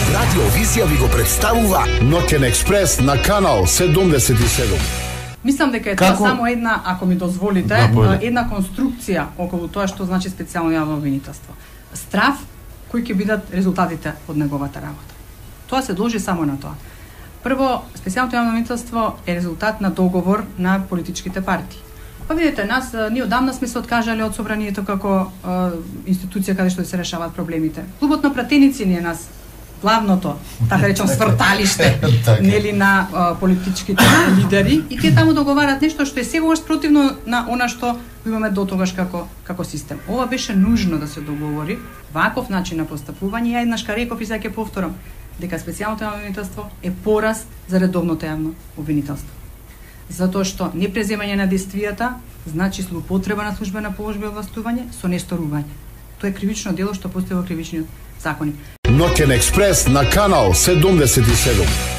Радио Визија ви го представува Ноќен експрес на канал 77. Мислам дека е тоа само една, ако ми дозволите, една конструкција околу тоа што значи специјално јавно обвинителство. Страв кои ќе бидат резултатите од неговата работа. Тоа се должи само на тоа. Прво, специјалното јавно обвинителство е резултат на договор на политичките партии. Па видите, ние одамна сме се откажале од собранието како институција каде што се решаваат проблемите. Клубот на пратеници ни е нас главното, така речем, сврталиште, нели, на политичките лидери, и тие таму договарат нешто што е секогаш противно на она што имаме дотогаш како систем. Ова беше нужно да се договори, ваков начин на постапување. Ја еднаш реков и сега ќе повторам дека специјалното јавно обвинителство е пораз за редовното јавно обвинителство. Затоа што непреземање на действијата значи злоупотреба на службена положба и овластување со несторување. Тоа е кривично дело што постои во кривичниот законник. Ноќен експрес на канал 77.